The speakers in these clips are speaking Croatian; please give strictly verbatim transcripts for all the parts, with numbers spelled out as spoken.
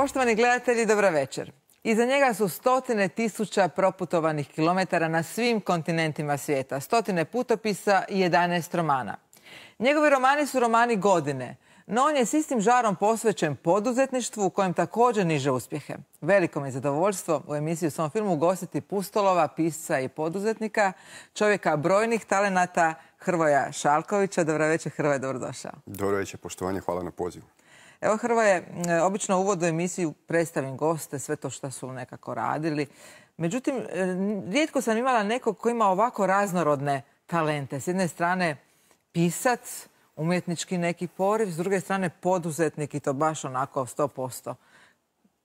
Poštovani gledatelji, dobra večer. Iza njega su stotine tisuća proputovanih kilometara na svim kontinentima svijeta, stotine putopisa i jedanaest romana. Njegovi romani su romani godine, no on je s istim žarom posvećen poduzetništvu u kojem također niže uspjehe. Veliko mi je zadovoljstvo u emisiji u svom filmu ugostiti pustolova, pisca i poduzetnika, čovjeka brojnih talenata, Hrvoja Šalkovića. Dobra večer, Hrvoje, dobrodošao. Dobro večer, poštovanje, hvala na pozivu. Evo, Hrvoje, obično u uvodu emisiju predstavim goste, sve to što su nekako radili. Međutim, rijetko sam imala nekog ko ima ovako raznorodne talente. S jedne strane pisac, umjetnički neki poriv, s druge strane poduzetnik i to baš onako sto posto.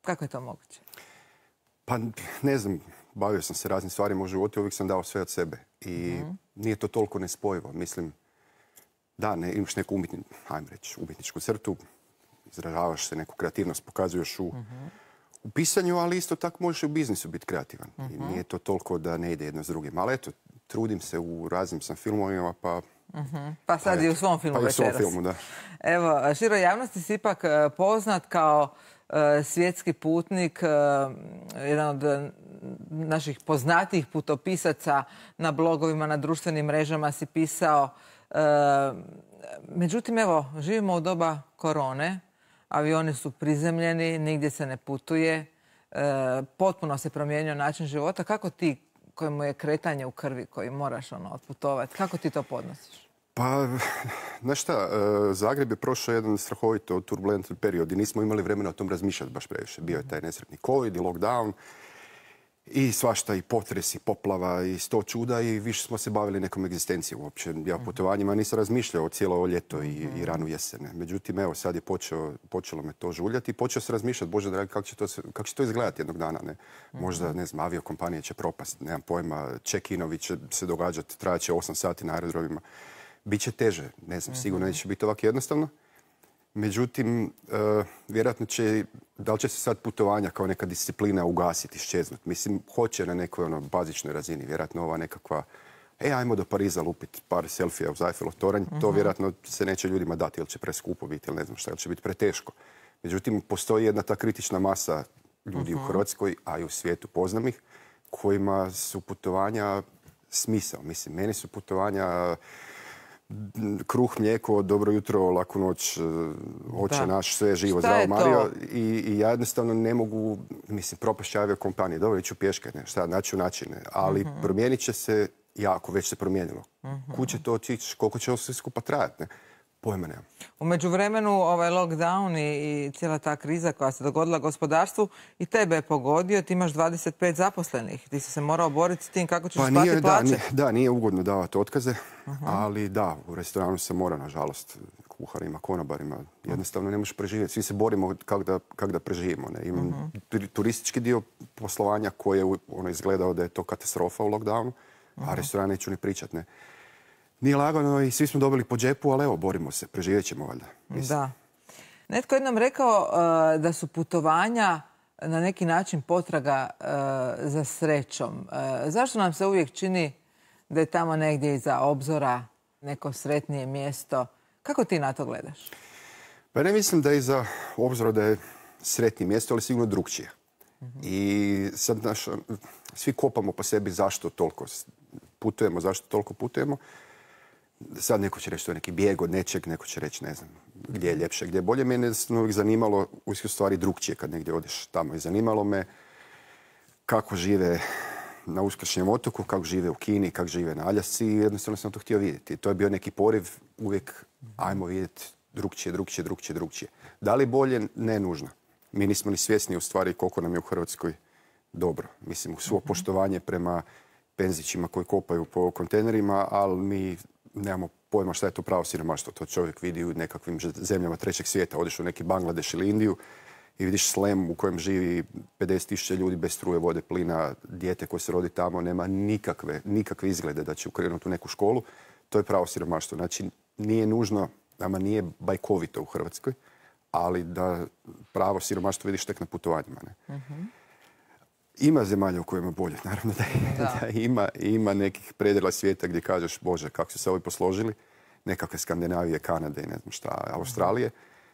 Kako je to moguće? Pa ne znam, bavio sam se raznim stvarima u životu i uvijek sam dao sve od sebe. I mm-hmm. nije to toliko nespojivo. Mislim, da, ne, imaš neku umjetni, ajmo reći, umjetničku crtu, izražavaš se, neku kreativnost pokazuješ u, mm-hmm. u pisanju, ali isto tako možeš i u biznisu biti kreativan. Mm-hmm. I nije to toliko da ne ide jedno s drugim. Ali eto, trudim se u raznim sam filmovima, pa... Mm-hmm. Pa sad pa i u svom filmu pa večeras. Pa i u svom filmu, da. Evo, široj javnosti si ipak poznat kao uh, svjetski putnik, uh, jedan od uh, naših poznatijih putopisaca. Na blogovima, na društvenim mrežama si pisao. Uh, međutim, evo, živimo u doba korone. Avioni su prizemljeni, nigdje se ne putuje. Uh, potpuno se promijenio način života. Kako ti, kojemu je kretanje u krvi, koji moraš ono, otputovati, kako ti to podnosiš? Pa, znaš šta, Zagreb je prošao jedan strahovito turbulentan period i nismo imali vremena o tom razmišljati baš previše. Bio je taj nesretni covid i lockdown i svašta, i potres, i poplava, i sto čuda, i više smo se bavili nekom egzistencijom uopće. Ja o putovanjima nisam razmišljao cijelo ovo ljeto i, i ranu jesene. Međutim, evo, sad je počeo, počelo me to žuljati i počeo se razmišljati, Bože dragi, kako će to, kako će to izgledati jednog dana. Ne? Možda, ne znam, aviokompanije će propast, nemam pojma, check-inovi će se događati, trajat će osam sati na aerodromima. Biće teže, ne znam, sigurno neće biti ovako jednostavno. Međutim, uh, vjerojatno će, da li će se sad putovanja kao neka disciplina ugasiti, ščeznuti? Mislim, hoće na nekoj ono, bazičnoj razini. Vjerojatno ova nekakva, e, ajmo do Pariza lupiti par selfija uz Eiffelov toranj. Uh-huh. To vjerojatno se neće ljudima dati, ili će preskupo biti, ili ne znam šta, ili će biti preteško. Međutim, postoji jedna ta kritična masa ljudi uh-huh. u Hrvatskoj, a i u svijetu, poznam ih, kojima su putovanja smisao. Mislim, meni su putovanja... kruh, mlijeko, dobro jutro, laku noć, oče naš, sve živo, zdravo Mario. I, I ja jednostavno ne mogu, mislim, propašće aviokompanije. Dobro, iću pješke, ne, šta, naći načine. Ali uh-huh. promijenit će se jako, već se promijenilo. Uh-huh. Kud će to otići, koliko će ovo sve skupa trajati, ne? Pojma nemam. U međuvremenu ovaj lockdown i, i cijela ta kriza koja se dogodila gospodarstvu i tebe je pogodio. Ti imaš dvadeset pet zaposlenih. Ti si se morao boriti s tim kako ćeš pa isplatiti plaće. Da, nije, da, nije ugodno davati otkaze, uh-huh. ali da, u restoranu se mora, nažalost, kuharima, konobarima. Jednostavno ne možeš preživjeti. Svi se borimo kako da, kak da preživimo. Ne? Imam uh-huh. turistički dio poslovanja koji je ono, izgledao da je to katastrofa u lockdownu, uh-huh. a restoran neću ni pričat, ne. Nije lagano i svi smo dobili po džepu, ali evo, borimo se, preživjet ćemo valjda. Da. Netko je nam rekao uh, da su putovanja na neki način potraga uh, za srećom. Uh, zašto nam se uvijek čini da je tamo negdje iza obzora neko sretnije mjesto? Kako ti na to gledaš? Pa ne mislim da je iza obzora da je sretnije mjesto, ali sigurno drukčije. Uh-huh. I sad naš, svi kopamo po sebi zašto toliko putujemo, zašto toliko putujemo. Sad neko će reći to je neki bijeg od nečeg, neko će reći ne znam gdje je ljepše, gdje je bolje. Mene je uvijek zanimalo u stvari drukčije kad negdje odeš tamo. I zanimalo me kako žive na uskršnjem otoku, kako žive u Kini, kako žive na Aljasci i jednostavno sam to htio vidjeti. I to je bio neki poriv uvijek ajmo vidjeti drukčije, drukčije, drukčije, drukčije. Da li bolje? Ne nužno. Mi nismo ni svjesni u stvari koliko nam je u Hrvatskoj dobro. Mislim, u svo poštovanje prema penzićima koji kopaju po kontejnerima, ali mi nemamo pojma šta je to pravo siromaštvo. To čovjek vidi u nekakvim zemljama trećeg svijeta. Odeš u neki Bangladeš ili Indiju i vidiš slem u kojem živi pedeset tisuća ljudi bez struje, vode, plina, dijete koje se rodi tamo, nema nikakve, nikakve izglede da će ukrenuti u neku školu. To je pravo siromaštvo. Znači, nije nužno, nama nije bajkovito u Hrvatskoj, ali da pravo siromaštvo vidiš tek na putovanjima. Ne? Uh-huh. Ima zemalja u kojima je bolje, naravno da, da. da ima, ima nekih predjela svijeta gdje kažeš, Bože, kako su se ovi posložili, nekakve Skandinavije, Kanade i ne znam šta, Australije,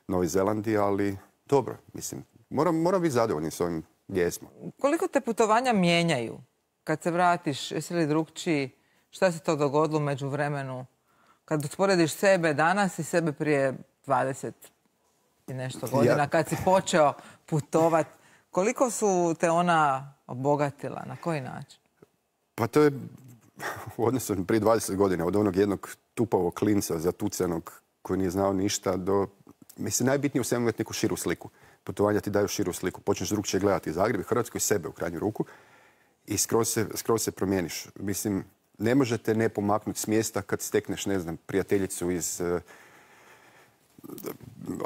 Novi Zelandije, ali dobro, mislim, moram, moram biti zadovoljni s ovim gdje smo. Koliko te putovanja mijenjaju? Kad se vratiš, jesi li drugčiji? Šta se to dogodilo među vremenu? Kad usporediš sebe danas i sebe prije dvadeset i nešto godina, ja. Kad si počeo putovat, koliko su te ona obogatila? Na koji način? Pa to je u odnosu prije dvadeset godina, od onog jednog tupavog klinca zatucanog koji nije znao ništa do... Mislim, najbitnije u svemu imati neku širu sliku. Putovanja ti daju širu sliku. Počneš drugčije gledati Zagreb i Hrvatsku i sebe u krajnju ruku i skroz se, skroz se promijeniš. Mislim, ne možete ne pomaknuti s mjesta kad stekneš, ne znam, prijateljicu iz uh,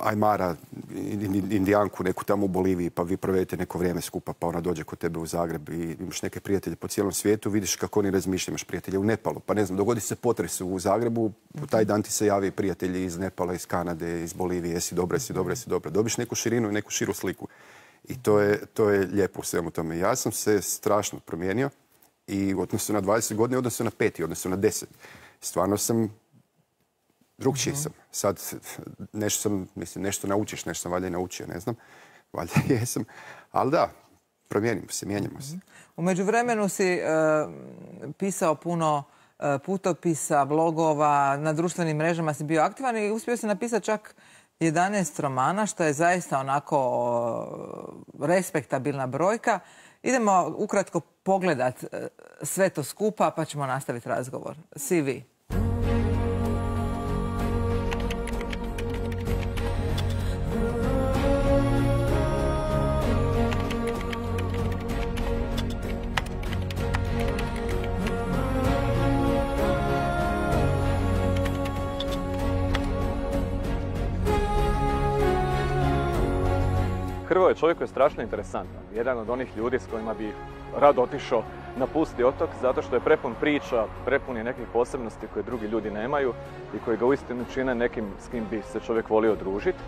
Ajmara, Indijanku, neku tamo u Boliviji, pa vi provedete neko vrijeme skupa, pa ona dođe kod tebe u Zagreb i imaš neke prijatelje po cijelom svijetu, vidiš kako oni razmišljaju, imaš prijatelje u Nepalu, pa ne znam, dogodi se potres u Zagrebu, u taj dan ti se javi prijatelji iz Nepala, iz Kanade, iz Bolivije, jesi dobra, jesi dobra, jesi dobra. Dobiš neku širinu i neku širu sliku. I to je, to je lijepo u svemu tome. Ja sam se strašno promijenio i u odnosu na dvadeset godina, u odnosu na pet i odnosu na deset. Stvarno sam drugčiji sam. Sad nešto sam, mislim, nešto naučiš, nešto sam valjda i naučio, ne znam. Valjda jesam. Ali da, promijenimo se, mijenjamo se. U međuvremenu si uh, pisao puno uh, putopisa, blogova, na društvenim mrežama si bio aktivan i uspio si napisati čak jedanaest romana, što je zaista onako uh, respektabilna brojka. Idemo ukratko pogledat uh, sve to skupa, pa ćemo nastaviti razgovor. C V. Hrvoje čovjek je strašno interesantan. Jedan od onih ljudi s kojima bi rado otišao na pusti otok zato što je prepun priča, prepun je nekih posebnosti koje drugi ljudi nemaju i koji ga uistinu čine nekim s kim bi se čovjek volio družiti.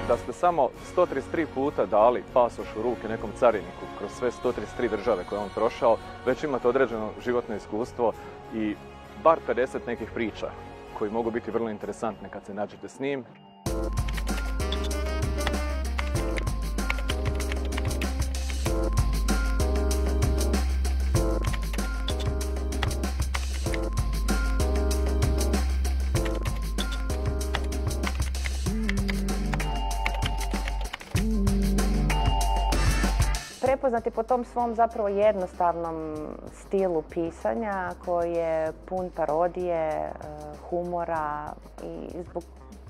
Da ste samo sto trideset tri puta dali pasoš u ruke nekom cariniku kroz sve sto trideset tri države koje je on prošao, već imate određeno životno iskustvo i bar pedeset nekih priča koji mogu biti vrlo interesantne kad se nađete s njim. Prepoznati po tom svom zapravo jednostavnom stilu pisanja koji je pun parodije, humora i zbog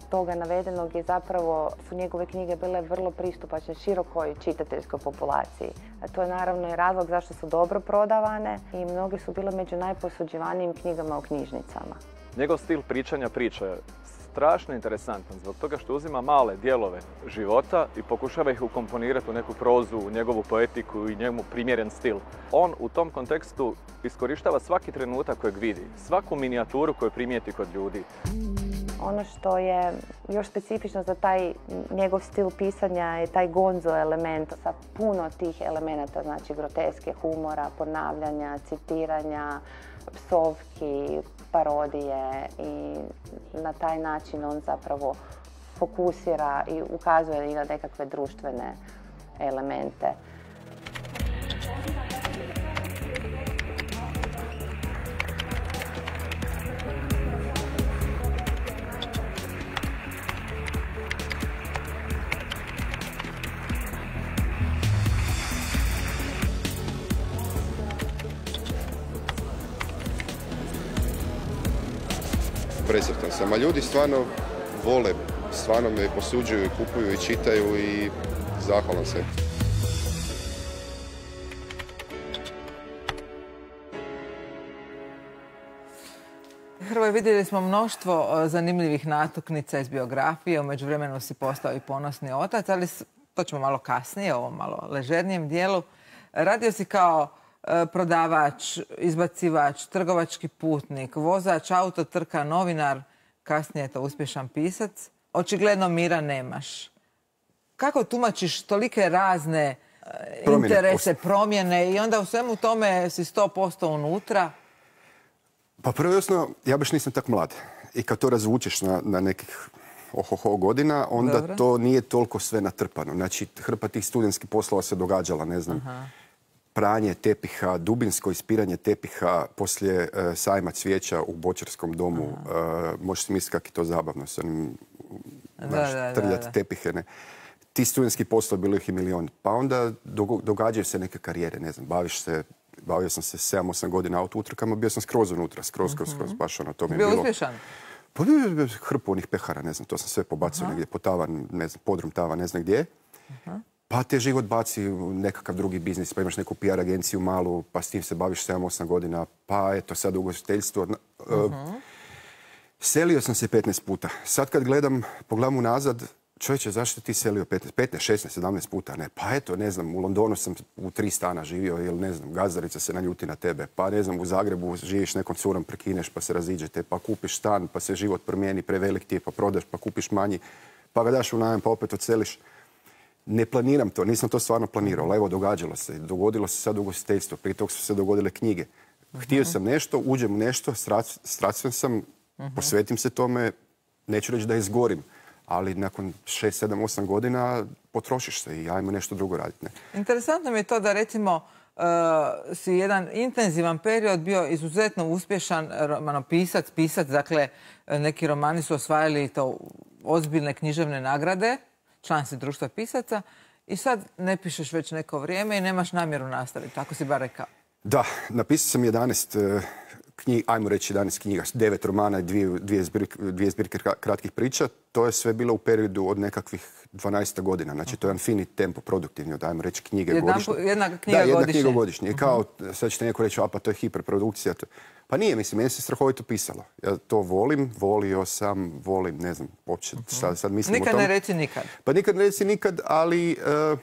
toga navedenog je zapravo su njegove knjige bile vrlo pristupačne širokoj čitateljskoj populaciji. A to je naravno i razlog zašto su dobro prodavane i mnogi su bile među najposuđivanijim knjigama u knjižnicama. Njegov stil pričanja priče je strašno interesantan zbog toga što uzima male dijelove života i pokušava ih ukomponirati u neku prozu, u njegovu poetiku i njemu primjeren stil. On u tom kontekstu iskorištava svaki trenutak kojeg vidi, svaku minijaturu koju primijeti kod ljudi. Ono što je još specifično za taj njegov stil pisanja je taj gonzo element sa puno tih elemenata, znači groteske, humora, ponavljanja, citiranja, psovki, parodije i na taj način on zapravo fokusira i ukazuje i na nekakve društvene elemente. Presretan sam, a ljudi stvarno vole, stvarno me posuđuju i kupuju i čitaju i zahvalan sam. Hrvoje, vidjeli smo mnoštvo zanimljivih natuknica iz biografije, u međuvremenu si postao i ponosni otac, ali to ćemo malo kasnije, ovom malo ležernijem dijelu. Radio si kao prodavač, izbacivač, trgovački putnik, vozač autotrka, novinar, kasnije je to uspješan pisac. očigledno mira nemaš. Kako tumačiš tolike razne e, Promjene. interese, promjene i onda u svemu tome si sto posto unutra? Pa prvo jasno, ja baš nisam tak mlad. I kad to razvučeš na, na nekih ohoho godina, onda Dobro. to nije toliko sve natrpano. Znači, hrpa tih studentskih poslova se događala, ne znam, Aha. pranje tepiha, dubinsko ispiranje tepiha poslije uh, sajma cvijeća u Bočarskom domu. Uh, možeš si misliti kako je to zabavno s onim, znaš, da, da, trljati da. tepihe. Ne? Ti studentski poslovi, bilo ih i milion. Pa onda dogo- događaju se neke karijere, ne znam, baviš se, bavio sam se sedam osam godina auto utrkama, bio sam skroz unutra, skroz, skroz, skroz, baš ono, to mi je Bio bilo... uspješan? Pa bio je hrpu onih pehara, ne znam, to sam sve pobacio negdje po tavan, ne znam, podrum tava, ne znam gdje. Pa te život baci u nekakav drugi biznis, pa imaš neku P R agenciju malu, pa s tim se baviš sedam osam godina, pa eto sad ugostiteljstvo. Uh, selio sam se petnaest puta. Sad kad gledam, pogledam unazad, čovječe, zašto ti selio petnaest, petnaest, šesnaest, sedamnaest puta? Ne, pa eto, ne znam, u Londonu sam u tri stana živio, ili ne znam, gazdarica se naljuti na tebe, pa ne znam, u Zagrebu živiš nekom curom, prekineš, pa se raziđete, pa kupiš stan, pa se život promijeni, prevelik ti je, pa prodaš, pa kupiš manji, pa ga daš u najam, pa opet odseliš. Ne planiram to, nisam to stvarno planirao, ali evo, događalo se. Dogodilo se sad ugostiteljstvo, prije toga su se dogodile knjige. Htio sam nešto, uđem u nešto, strastven sam, posvetim se tome, neću reći da izgorim, ali nakon šest, sedam, osam godina potrošiš se i ajmo nešto drugo raditi. Ne? Interesantno mi je to da recimo uh, si jedan intenzivan period bio izuzetno uspješan romanopisac, pisac, dakle neki romani su osvajali to ozbiljne književne nagrade, član si društva pisaca i sad ne pišeš već neko vrijeme i nemaš namjeru nastaviti, tako si bar rekao. Da, napisao sam jedanaest knjiga, ajmo reći jedanaest knjiga, devet romana i dvije, dvije, zbirke, dvije zbirke kratkih priča. To je sve bilo u periodu od nekakvih dvanaest godina. Znači, to je jedan fini tempo, produktivni, od, ajmo reći, knjige Jedna, godišnje. jedna knjiga da, jedna godišnje. knjiga godišnje. I kao, sad ćete neko reći, a pa to je hiperprodukcija. Pa nije, mislim, meni se strahovito pisalo. Ja to volim, volio sam, volim, ne znam, uopće, sad, sad mislim Nikad o tome. ne reci nikad. Pa nikad ne reci nikad, ali... Uh,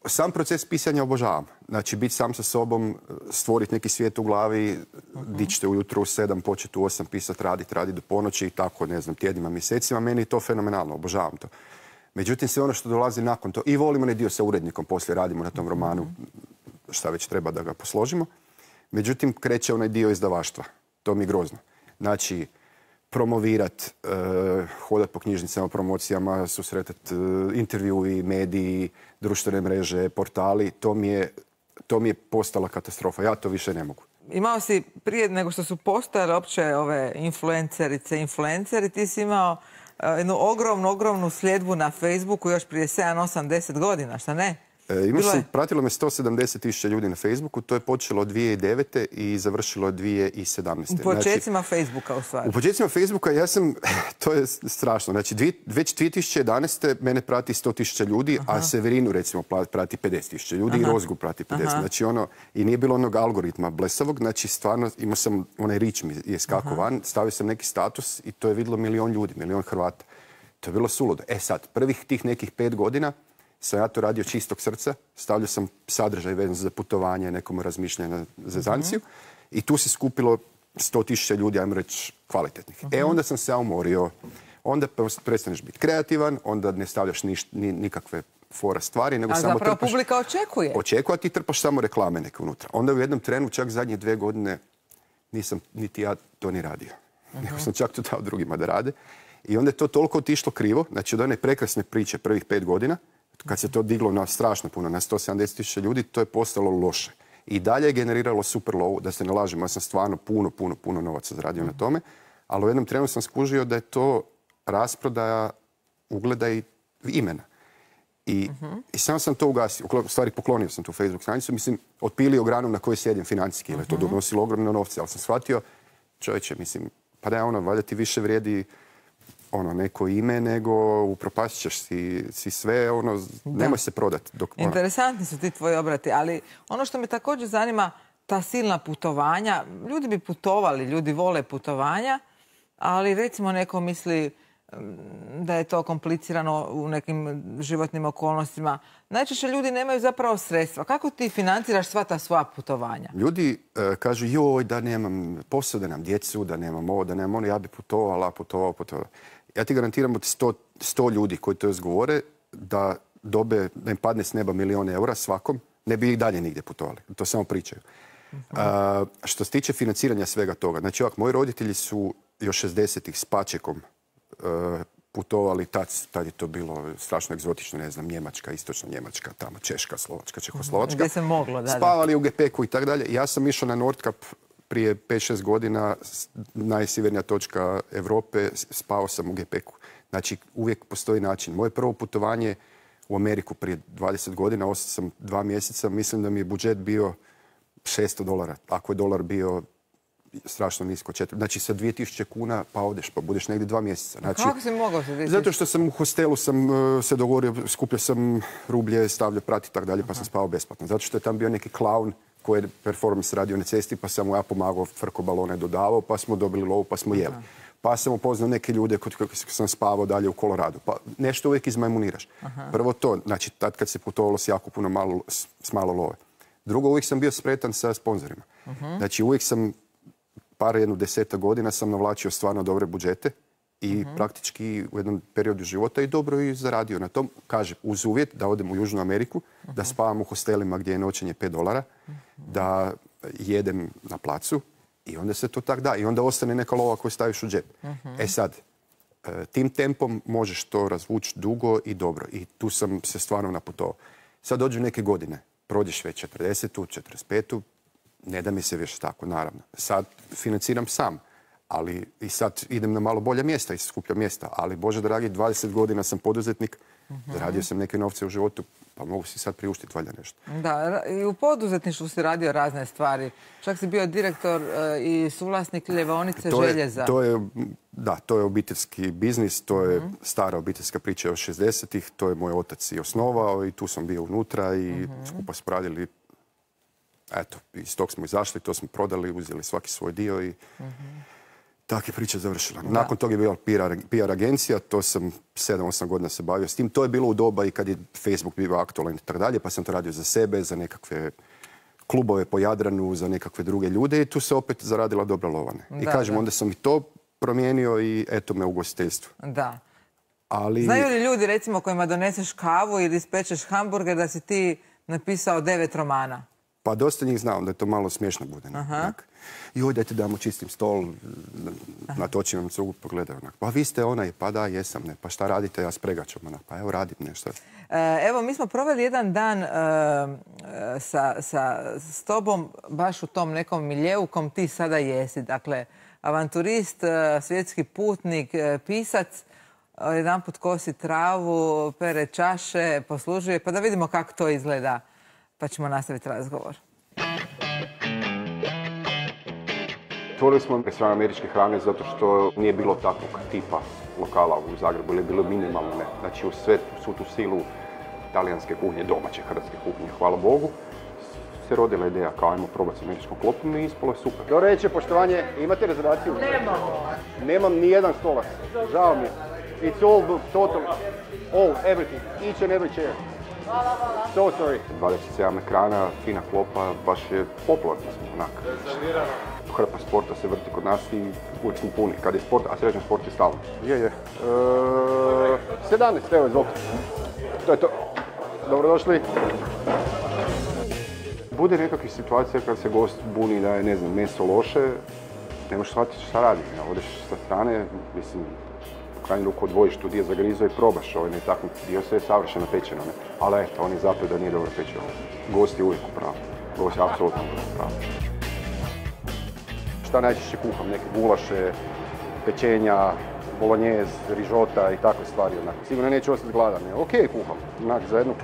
sam proces pisanja obožavam. Znači, biti sam sa sobom, stvoriti neki svijet u glavi, uh-huh. dići te ujutro u sedam, početi u osam, pisati, raditi, raditi do ponoći i tako, ne znam, tjednima, mjesecima. Meni je to fenomenalno, obožavam to. Međutim, sve ono što dolazi nakon to, i volimo onaj dio sa urednikom, poslije radimo na tom romanu, uh-huh. šta već treba da ga posložimo. Međutim, kreće onaj dio izdavaštva. To mi je grozno. Znači, promovirat, uh, hodat po knjižnicama, promocijama, susretat uh, intervjui, mediji, društvene mreže, portali, to mi je, to mi je postala katastrofa. Ja to više ne mogu. Imao si, prije nego što su postojale opće ove influencerice, influenceri, ti si imao uh, jednu ogromnu, ogromnu sljedbu na Facebooku još prije sedam, osam, deset godina, šta ne? E, imao sam, pratilo me sto sedamdeset tisuća ljudi na Facebooku, to je počelo od dvije tisuće devete. i završilo od dvije tisuće sedamnaeste. U početcima znači, Facebooka u stvari. U početcima Facebooka ja sam, to je strašno, znači dvije, već dvije tisuće jedanaeste. mene prati sto tisuća ljudi, aha. a Severinu recimo prati pedeset tisuća ljudi, aha. i Rozgu prati pedeset. Aha. Znači ono, i nije bilo onog algoritma blesavog, znači stvarno imao sam, onaj rič mi je skakao van, stavio sam neki status i to je vidjelo milion ljudi, milion Hrvata. To je bilo suludo. E sad, prvih tih nekih pet godina sam ja to radio čistog srca, stavljao sam sadržaj vezan za putovanje, nekom razmišljanje na zezanciju uh-huh. i tu se skupilo sto tisuća ljudi, ajmo reći, kvalitetnih. Uh-huh. E onda sam se ja umorio, onda prestaneš biti kreativan, onda ne stavljaš niš, ni, nikakve fora stvari, nego a samo zapravo trpaš, publika očekuje. Očekuje, a ti trpaš samo reklame neke unutra. Onda u jednom trenu, čak zadnje dve godine, nisam niti ja to ni radio. Uh-huh. Nego sam čak to dao drugima da rade. I onda je to toliko otišlo krivo, znači od one prekrasne priče prvih pet godina, kad se to diglo na strašno puno, na sto sedamdeset tisuća ljudi, to je postalo loše. I dalje je generiralo super lovu, da se ne lažemo, ja sam stvarno puno, puno, puno novaca zaradio na tome, ali u jednom trenu sam skužio da je to rasprodaja ugleda i imena. I, uh-huh. i sam sam to ugasio, u stvari poklonio sam tu Facebook stranicu, mislim, otpilio granu na kojoj sjedim financijski, jer je to donosilo ogromne novce, ali sam shvatio, čovječe, mislim, pa da je ono, valjda ti više vrijedi ono, neko ime, nego upropasit ćeš si, si sve, ono, nemoj se prodati. Dok, ono. Interesantni su ti tvoji obrati, ali ono što me također zanima, ta silna putovanja, ljudi bi putovali, ljudi vole putovanja, ali recimo neko misli da je to komplicirano u nekim životnim okolnostima. Najčešće ljudi nemaju zapravo sredstva. Kako ti financiraš sva ta svoja putovanja? Ljudi uh, kažu, joj, da nemam posao, da nemam djecu, da nemam ovo, da nemam ono, ja bi putovala, putovao, putovao. Ja ti garantiram od sto ljudi koji to izgovore da dobe, da im padne s neba milijon eura svakom, ne bi ih dalje nigdje putovali. To samo pričaju. Uh-huh. A, što se tiče financiranja svega toga, znači ovak, moji roditelji su još šezdesetih s pačekom uh, putovali, tad, tad je to bilo strašno egzotično, ne znam, Njemačka, istočna Njemačka, tamo Češka, Slovačka, Čehoslovačka. Gdje se moglo, da. Spavali u gepeku i tako dalje. Ja sam išao na Nordkap prije pet šest godina, najsjevernija točka Europe, spao sam u gepeku. Znači, uvijek postoji način. Moje prvo putovanje u Ameriku prije dvadeset godina, ostao sam dva mjeseca, mislim da mi je budžet bio šesto dolara. Ako je dolar bio strašno nisko, četiri. Znači, sa dvije tisuće kuna pa odeš, pa budeš negdje dva mjeseca. Znači, kako si mogao se desiti? Zato što sam u hostelu sam uh, se dogovorio, skupljao sam rublje, stavljao prati i tako dalje, pa sam spavao besplatno. Zato što je tam bio neki klaun koji je performance radio na cesti, pa sam mu ja pomagao, frko balone dodavao, pa smo dobili lovu, pa smo jeli. Aha. Pa sam upoznao neke ljude kod kojih sam spavao dalje u Koloradu. Pa nešto uvijek izmajmuniraš. Aha. Prvo to, znači tad kad se putovalo s jako puno malo, s malo love. Drugo, uvijek sam bio spretan sa sponzorima. Aha. Znači uvijek sam, par jednu deseta godina sam navlačio stvarno dobre budžete i aha, praktički u jednom periodu života i dobro i zaradio na tom. Kaže, uz uvjet da odem u Južnu Ameriku, aha, da spavam u hostelima gdje je noćenje pet dolara, aha, da jedem na placu i onda se to tak da. I onda ostane neka lova koju staviš u džep. Aha. E sad, tim tempom možeš to razvući dugo i dobro. I tu sam se stvarno naputovao. Sad dođu neke godine. Prođeš već četrdesetu, četrdeset petu, ne da mi se više tako, naravno. Sad financiram sam, ali i sad idem na malo bolja mjesta i skupljam mjesta. Ali, Bože dragi, dvadeset godina sam poduzetnik, uh-huh, zaradio sam neke novce u životu, pa mogu si sad priuštiti valjda nešto. Da, i u poduzetništvu si radio razne stvari. Čak si bio direktor uh, i suvlasnik Ljevaonice to je, željeza. To je, da, to je obiteljski biznis, to je uh-huh, stara obiteljska priča od šezdesetih, to je moj otac i osnovao i tu sam bio unutra i uh-huh, skupa smo radili. Eto, iz tog smo izašli, to smo prodali, uzeli svaki svoj dio i uh-huh, tak je priča završila. Da. Nakon toga je bila P R agencija, to sam sedam osam godina se bavio s tim. To je bilo u doba i kad je Facebook bio aktualan i tako dalje, pa sam to radio za sebe, za nekakve klubove po Jadranu, za nekakve druge ljude i tu se opet zaradila dobra lovane. I da, kažem, da, onda sam i to promijenio i eto me u ugostiteljstvu. Da. Ali... Znaju li ljudi, recimo, kojima doneseš kavu ili ispečeš hamburger, da si ti napisao devet romana? Pa dosta njih znam da je to malo smiješno bude. Joj, dajte damo čistim stol, natočim vam cugu, pogledaju. Pa vi ste onaj, pa da, jesam, ne. Pa šta radite, ja s pregačom. Pa evo, radim nešto. Evo, mi smo proveli jedan dan sa, sa, s tobom baš u tom nekom miljeu kom ti sada jesi. Dakle, avanturist, svjetski putnik, pisac, jedan put kosi travu, pere čaše, poslužuje. Pa da vidimo kako to izgleda. Pa ćemo nastaviti razgovor. Otvorili smo restoran američke hrane zato što nije bilo takvog tipa lokala u Zagrebu, ili je bilo minimalno ne. Znači u sve, svu tu silu talijanske kuhnje, domaće hrvatske kuhnje, hvala Bogu, se rodila ideja kao ajmo probati s američkom klopom i ispalo je super. Dobro večer, poštovanje, imate rezervaciju? Nemamo. Nemam ni jedan stolac, žao mi je. It's all booked, total, all, everything, each and every chair. Hvala, hvala. So sorry. dvadeset sedam ekrana, fina klopa, baš je popularno smo onak. Hrpa sporta se vrti kod nas i uvijek smo puni. Kad je sport, a srećan sport je stalno. Je, je. E, sedamnaest, evo izvolite. To je to. Dobrodošli. Bude nekakvih situacija kad se gost buni da je, ne znam, meso loše, ne možeš shvatiti šta radi. Ja, odeš sa strane, mislim, u krajnju ruku odvojiš tu dio zagrizo i probaš ovaj netaknut dio, sve je savršeno pečeno. Ne? Ali eto, on je zato da nije dobro pečeno. Gost je uvijek u pravu. Gost je apsolutno u pravu. Šta najčešće kuham? Neke gulaše, pečenja, bolognjez, rižota i takve stvari. Onak. Sigurno neću ostati gladan. Ne? Ok kuham. Onak, za jednog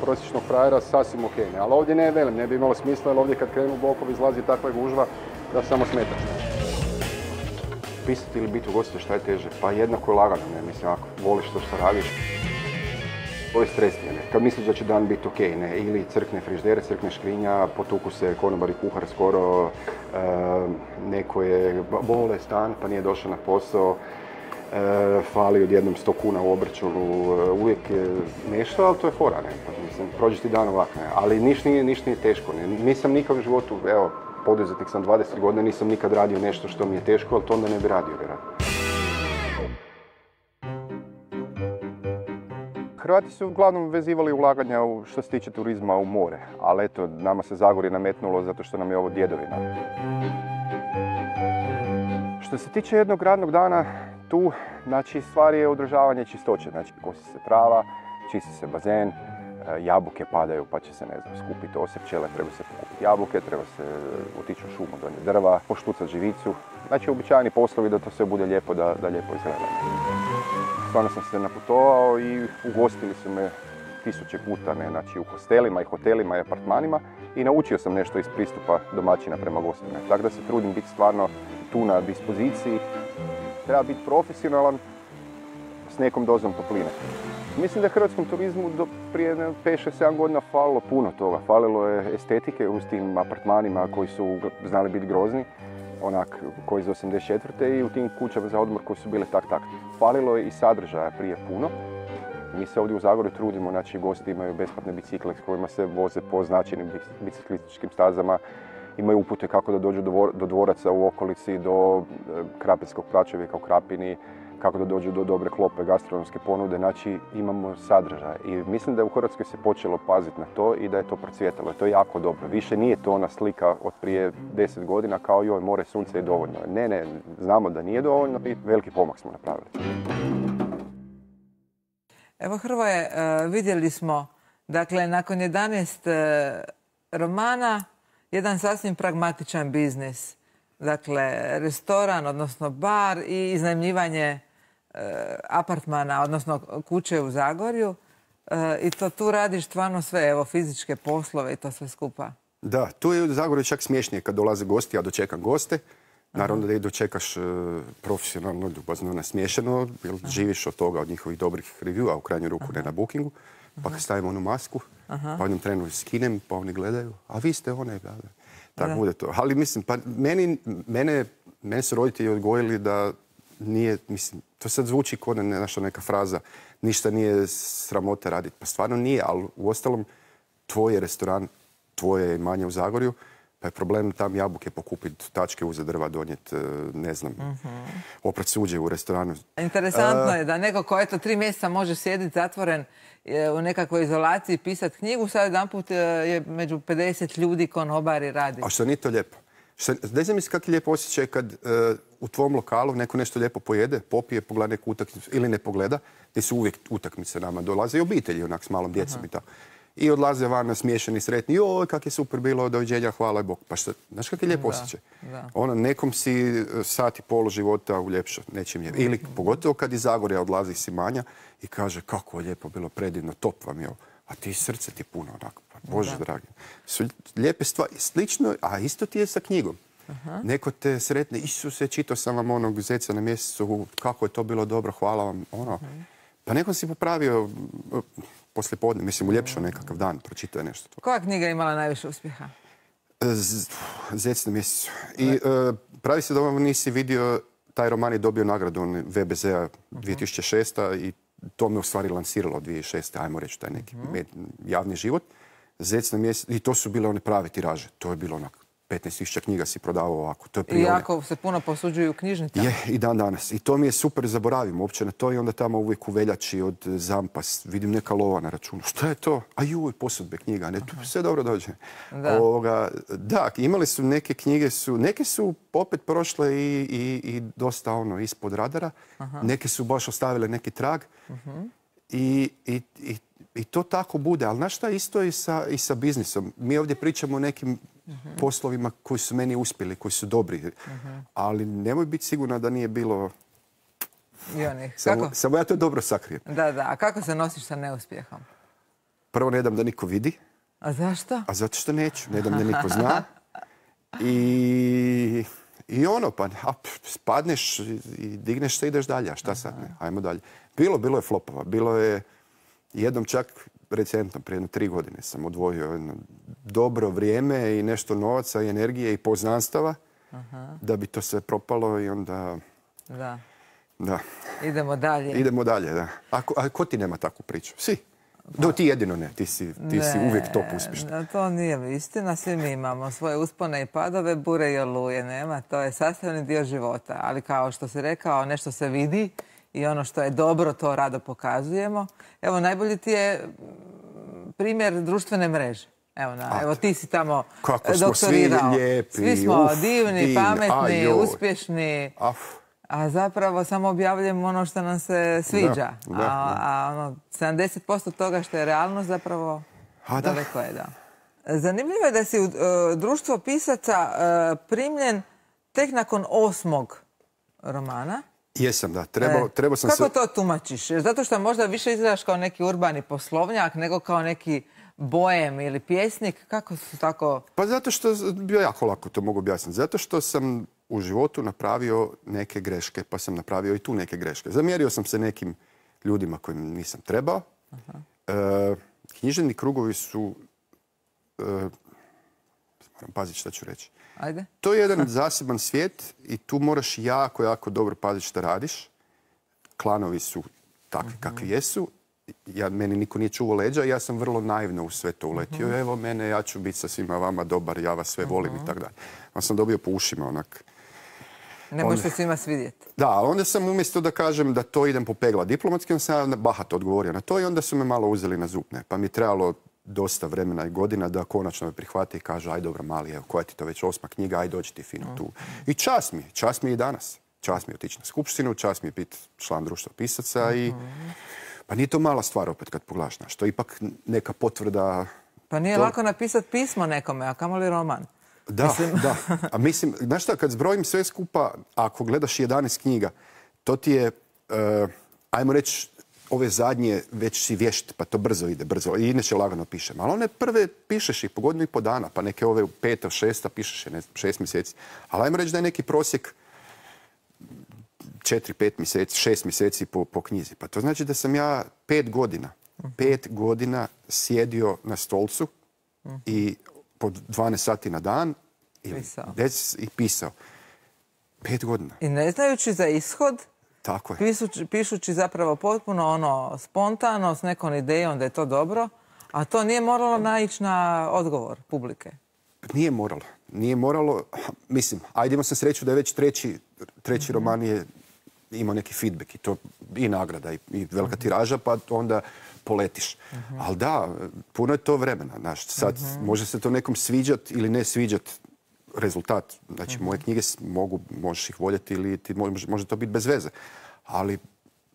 prosječnog frajera sasvim ok. Ne? Ali ovdje ne velim, ne bi imalo smisla, jer ovdje kad krenu bokovi izlazi takva gužva da samo smetaš. Pisati ili biti ugostitelj, šta je teže? Pa jednako je lagano, ne? Mislim, ako voliš to što radiš. To je stresnije, ne? Kad misliš da će dan biti ok, ne? Ili crkne frižidere, crkne škrinja, potuku se konobar i kuhar skoro, e, neko je bole stan pa nije došao na posao, e, fali odjednom sto kuna u obračunu, e, uvijek je nešto, ali to je fora, ne? Pa, mislim, prođeš ti dan ovak, ne? Ali ništa nije, ništa nije teško, ne? Nisam nikad u životu, evo, poduzetnik sam dvadeset godina, nisam nikad radio nešto što mi je teško, ali to onda ne bi radio, vjerojatno. Hrvati su uglavnom vezivali ulaganja u, što se tiče turizma u more, ali eto, nama se Zagorje nametnulo zato što nam je ovo djedovina. Što se tiče jednog radnog dana, tu, znači, stvar je održavanje čistoće. Znači, kosi se trava, čisti se bazen, jabuke padaju pa će se, ne znam, skupiti ose pčele, treba se pokupiti jabuke, treba se otići u šumu, donijeti drva, poštucati živicu. Znači, običajni poslovi da to sve bude lijepo, da, da lijepo izgleda. Stvarno sam se naputovao i ugostili su me tisuće puta, ne, znači u hostelima i hotelima i apartmanima i naučio sam nešto iz pristupa domaćina prema gostima. Tako da se trudim biti stvarno tu na dispoziciji. Treba biti profesionalan s nekom dozom topline. Mislim da je hrvatskom turizmu do prije pet šest sedam godina falilo puno toga. Falilo je estetike uz tim apartmanima koji su znali biti grozni, onak koji iz osamdeset četvrte i u tim kućama za odmor koji su bile tak tak. Falilo je i sadržaja prije puno. Mi se ovdje u Zagorju trudimo, znači gosti imaju besplatne bicikle s kojima se voze po značajnim biciklističkim stazama, imaju upute kako da dođu do dvoraca u okolici, do Krapinskog pračovjeka u Krapini, kako da dođu do dobre klope gastronomske ponude, znači imamo sadržaj. I mislim da je u Hrvatskoj se počelo paziti na to i da je to procvjetalo. To je jako dobro. Više nije to ona slika od prije deset godina kao joj, more, sunce je dovoljno. Ne, ne, znamo da nije dovoljno i veliki pomak smo napravili. Evo Hrvoje, vidjeli smo, dakle, nakon jedanaest romana, jedan sasvim pragmatičan biznis. Dakle, restoran, odnosno bar i iznajmljivanje apartmana, odnosno kuće u Zagorju. I to tu radiš stvarno sve, evo, fizičke poslove i to sve skupa. Da, tu je u Zagorju čak smiješnije kad dolaze gosti, ja dočekam goste. Naravno da ih dočekaš profesionalno, ljubazno, nasmiješeno, jer živiš od toga, od njihovih dobrih reviewa, u krajnju ruku ne na bookingu. Pa kad stavimo onu masku, pa u jednom trenu skinem, pa oni gledaju, a vi ste one, da, da. Tako bude to. Ali mislim, pa meni, mene, mene su roditelji odgojili da nije, mislim, to sad zvuči kao naša neka fraza, ništa nije sramota raditi. Pa stvarno nije, ali uostalom tvoj je restoran, tvoje imanje u Zagorju, pa je problem tam jabuke pokupiti, tačke uzeti drva, donijeti, ne znam, uh-huh. oprat suđe u restoranu. Interesantno uh, je da neko ko eto tri mjeseca može sjediti zatvoren u nekakvoj izolaciji, pisati knjigu, sad jedanput je među pedeset ljudi konobari radi. A što nije to lijepo? Ne znam misli kak je lijepo osjećaj kad uh, u tvom lokalu neko nešto lijepo pojede, popije, pogleda neku utakmicu ili ne pogleda, gdje su uvijek utakmice nama dolaze i obitelji onak s malom djecom uh-huh. i tako. I odlaze van nasmiješeni, sretni, joj, kak je super bilo, doviđenja, hvala Bog. Pa šta, znaš kak je lijep osjećaj? Ono, nekom si sat i pol života uljepšao, nečim je. Ili pogotovo kad iz Zagorja odlazi si Manja i kaže kako je lijepo bilo, predivno, top vam je ovo. A ti srce ti puno onako, pa Bože da. Dragi. Su lijepe stvari, slično, a isto ti je sa knjigom. Aha. Neko te sretne, Isuse, čitao sam vam onog Zeca na mjesecu, kako je to bilo dobro, hvala vam, ono. Aha. Pa nekom si popravio poslije podne, mislim, uljepšao nekakav dan, pročitao je nešto. Koja knjiga je imala najviše uspjeha? Zec na mjesecu. I uh, pravi se da ovo nisi vidio, taj roman je dobio nagradu V B Z-a dvije tisuće šeste. i to me u stvari lansiralo dvije tisuće šeste. ajmo reći, taj neki uh-huh. javni život. Zec na mjesecu, i to su bile one prave tiraže. To je bilo onako, petnaest tisuća knjiga si prodavao ovako. To je I jako se puno posuđuju knjižnica. Je, i dan danas. I to mi je super, zaboravim uopće na to i onda tamo uvijek u veljači od Zampa vidim neka lova na računu. Šta je to? A juj, posudbe knjiga. Ne, tu sve dobro dođe. Da. Ovoga, da, imali su neke knjige, su, neke su opet prošle i, i, i dosta ono ispod radara. Aha. Neke su baš ostavile neki trag. Uh-huh. I, i, i, i to tako bude. Ali znaš šta, isto i sa, i sa biznisom. Mi ovdje pričamo o nekim uh-huh. poslovima koji su meni uspjeli, koji su dobri. Uh-huh. Ali nemoj biti sigurna da nije bilo... I onih. Samo, kako? samo ja to dobro sakrijem. Da, da. A kako se nosiš sa neuspjehom? Prvo ne dam da niko vidi. A zašto? A zato što neću. Ne dam da niko zna. I, i ono, pa a, spadneš i digneš se i ideš dalje. A šta sad? Ne? Ajmo dalje. Bilo, bilo je flopova. Bilo je jednom čak recentno, prije jedno tri godine sam odvojio jedno dobro vrijeme i nešto novaca i energije i poznanstava Aha. da bi to sve propalo i onda... Da. Da. Idemo dalje. Idemo dalje, da. A ko, a ko ti nema takvu priču? Svi. Do, ti jedino ne. Ti si, ti ne, si uvijek top uspješna. To nije istina. Svi mi imamo svoje uspone i padove, bure i oluje. Nema. To je sastavni dio života. Ali kao što si rekao, nešto se vidi i ono što je dobro, to rado pokazujemo. Evo, najbolji ti je primjer društvene mreže. Evo, na, evo ti si tamo kako smo doktorirao. Svi lijepi, svi smo uf, divni, divni, pametni, ajoj. uspješni. Af. A zapravo samo objavljujemo ono što nam se sviđa. Da, da, a a ono, sedamdeset posto toga što je realnost zapravo a, da. daleko je, da. Zanimljivo je da si u uh, društvo pisaca uh, primljen tek nakon osmog romana. Jesam, da. Trebao, e, trebao sam kako se... to tumačiš? Jer zato što možda više izgledaš kao neki urbani poslovnjak nego kao neki bojem ili pjesnik. Kako su tako... Pa zato što, bio jako lako to mogu objasniti, zato što sam u životu napravio neke greške, pa sam napravio i tu neke greške. Zamjerio sam se nekim ljudima kojim nisam trebao. Aha. E, književni krugovi su... E, moram paziti šta ću reći. Ajde. To je jedan zaseban svijet i tu moraš jako, jako dobro paziti šta radiš. Klanovi su takvi uh-huh. kakvi jesu. Ja, meni niko nije čuvao leđa i ja sam vrlo naivno u sve to uletio. Uh-huh. Evo mene, ja ću biti sa svima vama dobar, ja vas sve volim uh-huh. i tako dalje. Onda sam dobio po ušima onak. Ne možeš se svima svidjeti. Da, onda sam umjesto da kažem da to idem popegla diplomatski, onda sam bahato odgovorio na to i onda su me malo uzeli na zub. Ne? Pa mi je trebalo dosta vremena i godina da konačno me prihvate i kažu aj dobro mali, evo koja ti to već osma knjiga, aj dođi ti fino tu. I čast mi, čast mi je i danas. Čast mi je otići na skupštinu, čast mi je biti član društva pisaca i pa nije to mala stvar opet kad pogledaš, znaš, to je ipak neka potvrda. Pa nije to... lako napisati pismo nekome, a kamoli roman. Da, mislim... da. A mislim, znaš šta, kad zbrojim sve skupa, ako gledaš jedanaest knjiga, to ti je, uh, ajmo reći, ove zadnje već si vješt, pa to brzo ide, brzo. I inače lagano pišem. Ali one prve pišeš i po godinu i po dana, pa neke ove peta, šesta pišeš je, ne znam, šest mjeseci. Ali ajmo reći da je neki prosjek četiri, pet mjeseci, šest mjeseci po, po knjizi. Pa to znači da sam ja pet godina, pet godina sjedio na stolcu i po dvanaest sati na dan i pisao. i pisao. Pet godina. I ne znajući za ishod, tako je. Pisući, pišući zapravo potpuno ono spontano, s nekom idejom da je to dobro, a to nije moralo naići na odgovor publike. Nije moralo. Nije moralo. Mislim, ajde imao sam sreću da je već treći, treći mm-hmm. roman je imao neki feedback i to i nagrada i, i velika mm-hmm. tiraža, pa onda poletiš. Mm-hmm. Ali da, puno je to vremena. Znaš, sad mm-hmm. može se to nekom sviđat ili ne sviđat rezultat. Znači, mm-hmm. moje knjige mogu, možeš ih voljeti ili ti može, može to biti bez veze. Ali,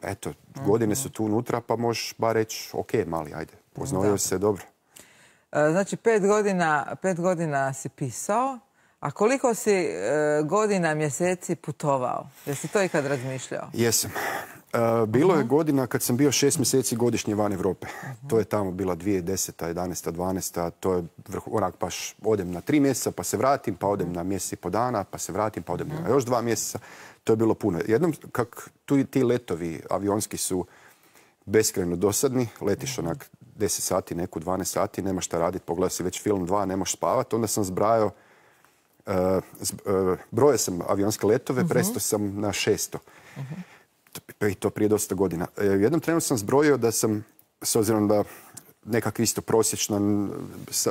eto, mm-hmm. godine su tu unutra, pa možeš bar reći, ok, mali, ajde, poznojio se dobro. Znači, pet godina, pet godina si pisao, a koliko si e, godina, mjeseci putovao? Jesi to ikad razmišljao? Jesam. E, bilo uh-huh. je godina kad sam bio šest mjeseci godišnje van Europe. Uh-huh. To je tamo bila dvije tisuće deseta, jedanaesta, dvanaesta. To je onak baš odem na tri mjeseca pa se vratim, pa odem na mjesec i po dana, pa se vratim, pa odem uh-huh. na još dva mjeseca. To je bilo puno. Jednom, kak tu ti letovi avionski su beskrajno dosadni, letiš onak deset sati, neku dvanaest sati, nema šta raditi, pogledao si već film dva, nemaš spavati. Onda sam zbrajao, uh, zb, uh, brojao sam avionske letove, uh-huh. prestao sam na šesto. Uh-huh. I to prije dosta godina. Uh, jednom trenu sam zbrojio da sam, s obzirom da nekak isto prosječan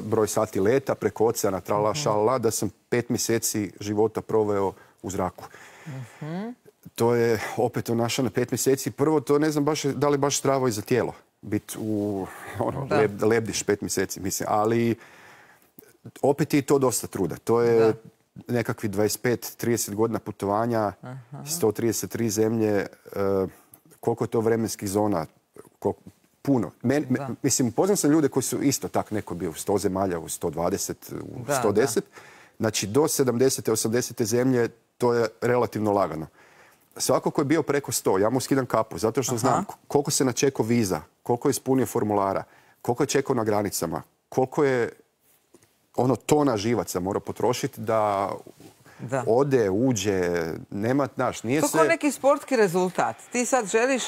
broj sati leta preko oceana, trala, uh-huh. šala, da sam pet mjeseci života proveo u zraku. Uh-huh. To je opet onaša na pet mjeseci. Prvo, to ne znam baš, da li baš zdravo i za tijelo. Biti u, ono, leb, lebdiš pet mjeseci, mislim. Ali opet je to dosta truda. To je da. nekakvi dvadeset pet trideset godina putovanja, aha. sto trideset tri zemlje. Uh, koliko je to vremenskih zona? Koliko, puno. Men, me, mislim, poznam sam ljude koji su isto tak, neko bio u sto zemalja, u sto dvadeset, u da, sto deset. Da. Znači, do sedamdesete, osamdesete zemlje to je relativno lagano. Svako ko je bio preko sto, ja mu skidam kapu, zato što aha. znam koliko se načekao viza, koliko je ispunio formulara, koliko je čekao na granicama, koliko je ono tona živaca mora potrošiti da, da ode, uđe, nema, znaš, nije to sve... To neki sportski rezultat. Ti sad želiš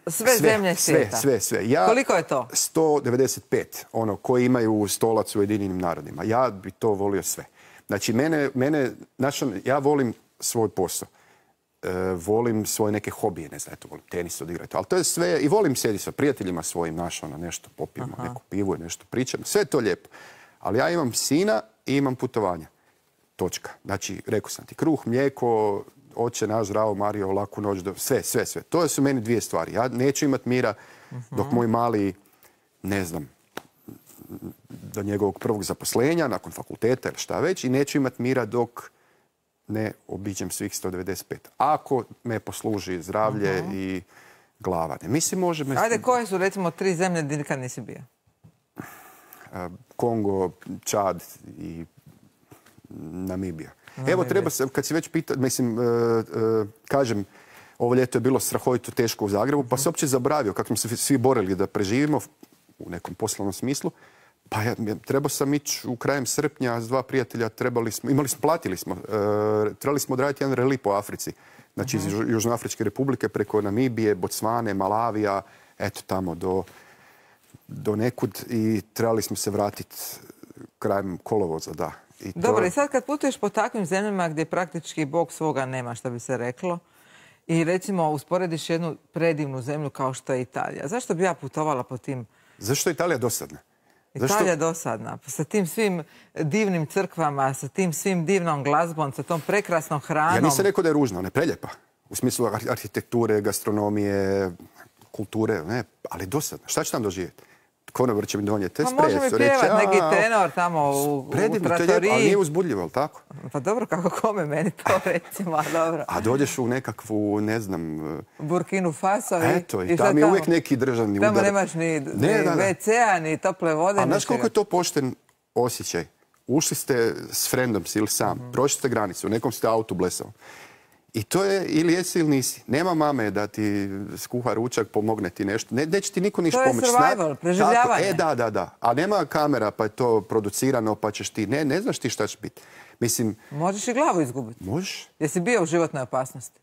sve, sve zemlje svijeta. Sve, sve, sve. Ja, koliko je to? sto devedeset pet, ono, koji imaju stolac u Ujedinjenim narodima. Ja bi to volio sve. Znači, mene, mene znači, ja volim svoj posao. E, volim svoje neke hobije, ne znam, eto, volim tenis odigrati, ali to je sve, i volim sjediti sa prijateljima svojim, našao na nešto, popijemo aha. neku pivu i nešto pričamo, sve je to lijepo. Ali ja imam sina i imam putovanja. Točka. Znači, rekao sam ti, kruh, mlijeko, Oče naš, zdravo Mario, laku noć, do... sve, sve, sve. To su meni dvije stvari. Ja neću imati mira dok moj mali, ne znam, do njegovog prvog zaposlenja, nakon fakulteta ili šta već, i neću imati mira dok ne obiđem svih sto devedeset pet. Ako me posluži zdravlje uh-huh. i glava. Ne, mislim, može... Me... Ajde, koje su, recimo, tri zemlje gdje nikad nisi bio? Kongo, Čad i Namibija. Namibija. Evo, treba se, kad si već pitao, mislim, uh, uh, kažem, ovo ljeto je bilo strahovito teško u Zagrebu, pa se uopće zaboravio kako smo se svi borili da preživimo u nekom poslovnom smislu. Pa ja, trebao sam ići u krajem srpnja s dva prijatelja, trebali smo, imali smo, platili smo, uh, trebali smo odraditi jedan reli po Africi. Znači iz uh-huh. Južnoafričke republike preko Namibije, Bocvane, Malavija, eto tamo do, do nekud i trebali smo se vratiti krajem kolovoza, da. I to... Dobro, i sad kad putuješ po takvim zemljama gdje praktički Bog svoga nema, što bi se reklo, i recimo usporediš jednu predivnu zemlju kao što je Italija, zašto bi ja putovala po tim... Zašto je Italija dosadna? Italija je dosadna. Sa tim svim divnim crkvama, sa tim svim divnom glazbom, sa tom prekrasnom hranom. Ja nisam rekao da je ružna, ona je preljepa. U smislu arhitekture, gastronomije, kulture, ne, ali dosadna. Šta će tam doživjeti? Konobar će mi donijeti espresso. Pa može mi pjevat neki tenor tamo u, u trattoriji. Ali nije uzbudljivo, ali tako? Pa dobro, kako kome meni to recimo, a dobro. A dođeš u nekakvu, ne znam... Burkinu Faso i... Eto, i tam je uvijek neki državni udar. Tamo nemaš ni, ni ve ce-a, ni tople vode. A znaš koliko je to pošten osjećaj? Ušli ste s frendom ili sam, mm-hmm. prošli ste granicu, u nekom ste autu blesao. I to je ili jesi ili nisi. Nema mame da ti skuha ručak, pomogne ti nešto. Ne, neće ti niko ništa pomoći. To je survival, preživljavanje. E, da, da, da. A nema kamera pa je to producirano pa ćeš ti... Ne, ne znaš ti šta će biti. Mislim... Možeš i glavu izgubiti. Možeš. Jesi bio u životnoj opasnosti?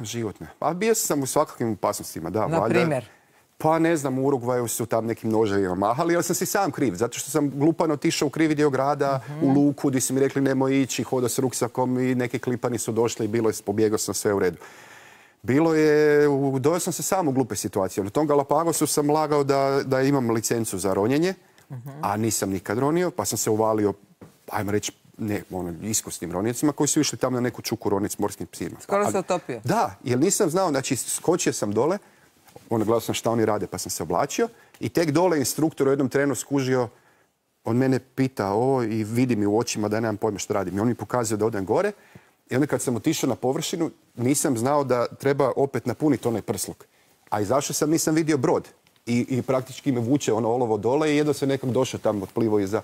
Životne. Pa bio sam u svakakvim opasnostima, da. Na primjer? Pa ne znam, u Urugvaju su tam nekim noževima mahali, ali sam si sam kriv. Zato što sam glupano otišao u krivi dio grada, uh-huh. u luku, gdje su mi rekli nemoj ići, hodao s ruksakom i neki klipani su došli i bilo je, pobjegao sam, sve u redu. Bilo je, dojao sam se sam u glupe situacije. Na tom Galapagosu sam lagao da, da imam licencu za ronjenje, uh-huh. a nisam nikad ronio, pa sam se uvalio, ajmo reći, ne, ono, iskusnim ronjecima koji su išli tamo na neku čuku ronit s morskim psima. Skoro se utopio? Da, jer nisam znao, znači skočio sam dole, ono, gledao sam šta oni rade, pa sam se oblačio. I tek dole instruktor u jednom trenu skužio, on mene pita o i vidi mi u očima da ja nemam pojma što radim. I on mi pokazuje da odem gore. I onda kad sam otišao na površinu, nisam znao da treba opet napuniti onaj prsluk. A izašao sam, nisam vidio brod. I, i praktički me vuče ono olovo dole i jedno se nekak došao tamo, otplivo iza.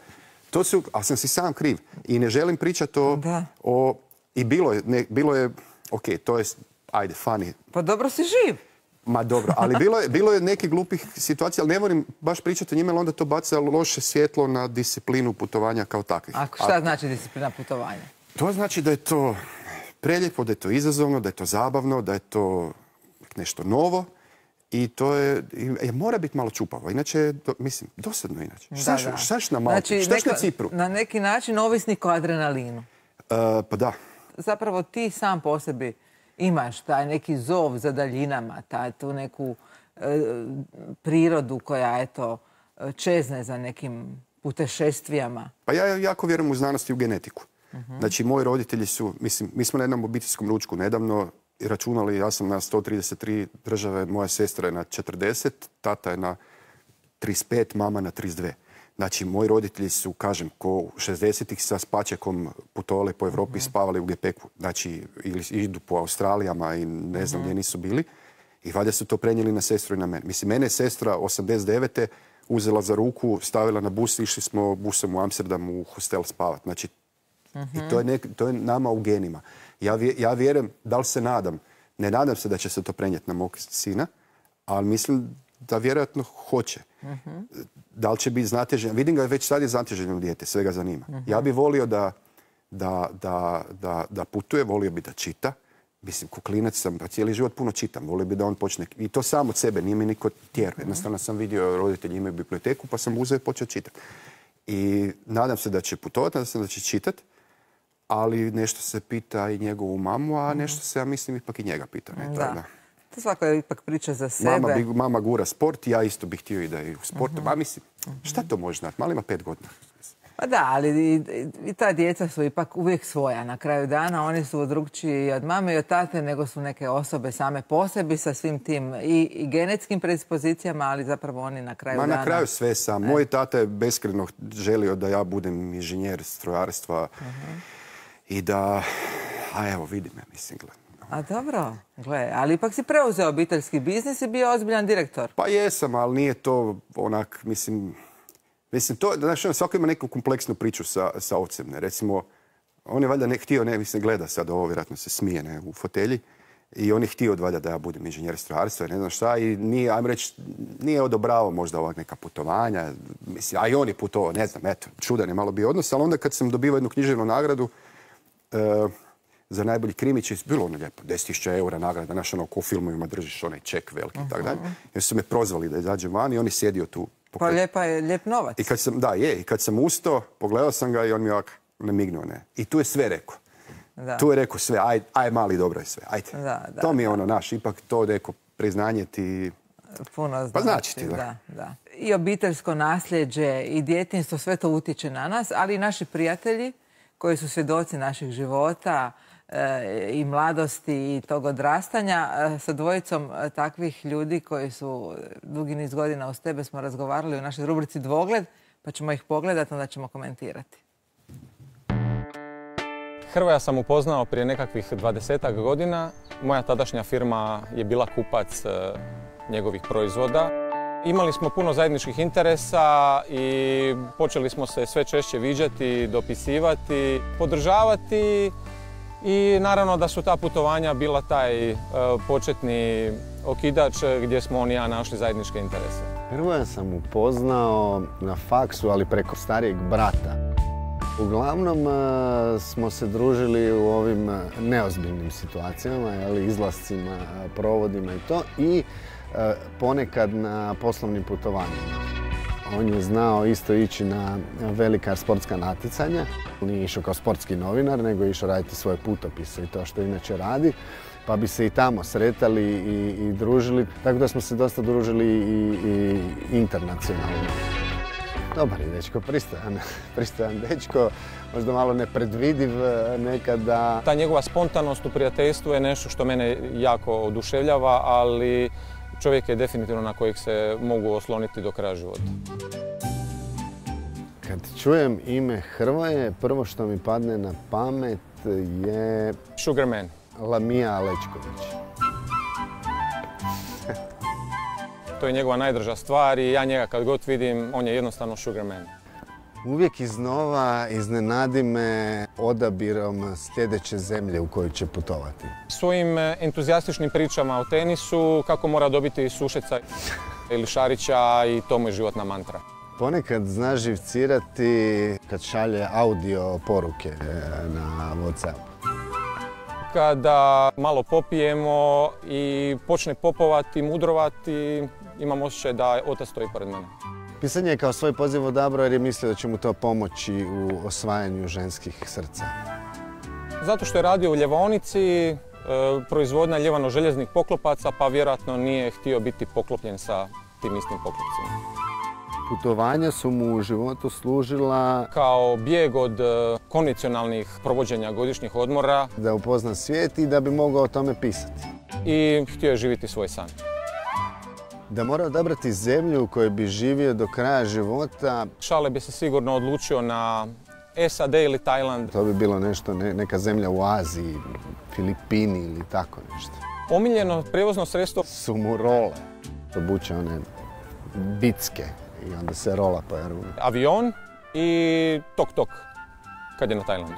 To su, ali sam si sam kriv. I ne želim pričati o... o I bilo je, ne, bilo je, ok, to je, ajde, funny. Pa dobro si živ. Ma dobro, ali bilo je, bilo je nekih glupih situacija, ali ne volim baš pričati o njima, ali onda to baca loše svjetlo na disciplinu putovanja kao takvih. A šta A, znači disciplina putovanja? To znači da je to preljepo, da je to izazovno, da je to zabavno, da je to nešto novo i to je, je mora biti malo čupavo. Inače, do, mislim, dosadno inače. Šta štaš na Malti? Znači, štaš na Cipru? Na neki način ovisnik o adrenalinu. Uh, pa da. Zapravo ti sam po sebi imaš taj neki zov za daljinama, taj, tu neku e, prirodu koja, eto, čezne za nekim putešestvijama. Pa ja jako vjerujem u znanost i u genetiku. Uh-huh. Znači, moji roditelji su, mislim, mi smo na jednom obiteljskom ručku nedavno računali, ja sam na sto trideset tri države, moja sestra je na četrdeset, tata je na trideset pet, mama na trideset dvije. Znači, moji roditelji su, kažem, ko šezdesetih sa spačekom putovali po Evropi i spavali u gepeku. Znači, ili idu po Australijama i ne znam gdje nisu bili. I valjda su to prenijeli na sestru i na mene. Mislim, mene je sestra osamdeset devete uzela za ruku, stavila na bus i išli smo busom u Amsterdam u hostel spavati. Znači, i to je, nek, to je nama u genima. Ja, ja vjerujem, da li se nadam, ne nadam se da će se to prenijeti na mog sina, ali mislim da vjerojatno hoće. Uh-huh. Da li će biti znatežen? Vidim ga već sad je znateženo dijete, sve ga zanima. Uh-huh. Ja bih volio da, da, da, da, da putuje, volio bi da čita. Mislim, ko klinac sam, pa cijeli život puno čitam. Volio bi da on počne... I to sam od sebe, nije mi niko tjerao. Jednostavno sam vidio, roditelji imaju biblioteku, pa sam uzeo i počeo čitati. I nadam se da će putovati, nadam se da će čitati, ali nešto se pita i njegovu mamu, a nešto se, ja mislim, ipak i njega pita. Ne? Da. Da. To svako je ipak priča za sebe. Mama, bi, mama gura sport, ja isto bih htio i da je u sportu. Uh-huh. A mislim, šta to može znati? Mali ima pet godina. Pa da, ali i, i ta djeca su ipak uvijek svoja. Na kraju dana oni su drugčiji od mame i od tate, nego su neke osobe same po sebi sa svim tim i, i genetskim predispozicijama, ali zapravo oni na kraju Ma, dana... Na kraju sve sam. Moj tata je beskreno želio da ja budem inženjer strojarstva uh-huh. i da... A evo, vidi me, mislim, gledam. A dobro, gle, ali ipak si preuzeo obiteljski biznis i bio ozbiljan direktor. Pa jesam, ali nije to onak, mislim... Mislim, to, znaš, svako ima neku kompleksnu priču sa, sa ocem, ne. Recimo, on je valjda ne htio, ne, mislim, gleda sad ovo, vjerojatno se smije, ne, u fotelji. I on je htio valjda da ja budem inženjer strojarstva, ne znam šta, i nije, ajmo reći, nije odobravao možda ovak neka putovanja, mislim, a i on je putovao, ne znam, eto, čudan je malo bio odnos, ali onda kad sam dobivao jednu književnu nagradu, uh, za najbolji krimić je bilo ono lijepo, deset tisuća eura nagrada, znaš, ono, ko u filmovima držiš onaj ček veliki i tako dalje. Jer su me prozvali da izađem van i on je sjedio tu. Pa lijepa je, lijep novac. I kad sam, da, je, i kad sam ustao, pogledao sam ga i on mi ovak namignuo, ne. I tu je sve rekao. Da. Tu je rekao sve, aj, aj mali, dobro je sve, ajde. Da, da, to mi je ono, naš, ipak to neko priznanje ti... Puno znači. Pa znači ti, da. da, da. I obiteljsko nasljeđe, i djetinjstvo, sve to utječe na nas, ali i naši prijatelji koji su svjedoci naših života e, i mladosti i tog odrastanja. E, sa dvojicom e, takvih ljudi koji su dugi niz godina uz tebe smo razgovarali u našoj rubrici Dvogled, pa ćemo ih pogledati, onda ćemo komentirati. Hrvoja sam upoznao prije nekakvih dvadesetak godina. Moja tadašnja firma je bila kupac e, njegovih proizvoda. Imali smo puno zajedničkih interesa i počeli smo se sve češće viđati, dopisivati, podržavati i naravno da su ta putovanja bila taj e, početni okidač gdje smo on i ja našli zajedničke interese. Hrvoja sam upoznao na faksu, ali preko starijeg brata. Uglavnom smo se družili u ovim neozbiljnim situacijama, izlascima, provodima i to, i ponekad na poslovnim putovanjima. On je znao isto ići na velika sportska natjecanja. Nije išao kao sportski novinar, nego je išao raditi svoje putopise i to što inače radi. Pa bi se i tamo sretali i, i družili, tako da smo se dosta družili i, i internacionalno. Dobar je dečko, pristojan, pristojan dečko, možda malo nepredvidiv nekada. Ta njegova spontanost u prijateljstvu je nešto što mene jako oduševljava, ali čovjek je definitivno na kojeg se mogu osloniti do kraja života. Kad čujem ime Hrvoje, prvo što mi padne na pamet je... Sugarman. Lamija Alečković. To je njegova najdrža stvar i ja njega kad god vidim, on je jednostavno Sugarman. Uvijek iznova iznenadi me odabirom sljedeće zemlje u koju će putovati. Svojim entuzijastičnim pričama o tenisu, kako mora dobiti Sušeca ili Šarića, i to mu je životna mantra. Ponekad zna živcirati kad šalje audio poruke na WhatsApp. Kada malo popijemo i počne popovati, mudrovati, imam osjećaj da otac stoji pored mene. Pisanje je kao svoj poziv odabrao jer je mislio da će mu to pomoći u osvajanju ženskih srca. Zato što je radio u ljevaonici, proizvodnja ljevano-željeznih poklopaca, pa vjerojatno nije htio biti poklopljen sa tim istim poklopcima. Putovanja su mu u životu služila kao bijeg od konvencionalnih provođenja godišnjih odmora. Da upozna svijet i da bi mogao o tome pisati. I htio je živjeti svoj san. Da mora odabrati zemlju u kojoj bi živio do kraja života. Šale bi se sigurno odlučio na S A D ili Tajland. To bi bilo nešto, ne, neka zemlja u Aziji, Filipini ili tako nešto. Omiljeno prijevozno sredstvo su mu role. Obuče one bicke i onda se rola po Jarunu. Avion i tok-tok kad je na Tajlandu.